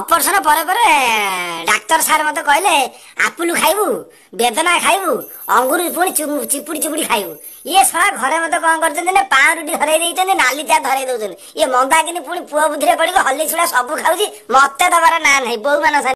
Operation ପରେ ପରେ ଡାକ୍ତର sir ମତେ କହିଲେ ଆପୁଲ ଖାଇବୁ, ବେଦନା ଖାଇବୁ, ଅଙ୍ଗୁର ପୁଣି ଚିପୁଡ଼ି ଚିପୁଡ଼ି ଖାଇବୁ। ଇଏ ଶଳା ଘରେ ମତେ କଣ କରିଛନ୍ତି ନା ପାଉଁରୁଟି ଧରେଇ ଦେଇଛନ୍ତି, ନାଲି ଚା ଧରେଇ ଦଉଛନ୍ତି। ଇଏ ମନ୍ଦାକିନି ପୁଣି ପୁଅ ବୁଦ୍ଧିରେ ପଡ଼ିକି ହଲି ଛୁଡ଼ା ସବୁ ଖାଉଛି, ମତେ ଦବାର ନାଁ ନାହିଁ। ବୋଉ ମାନ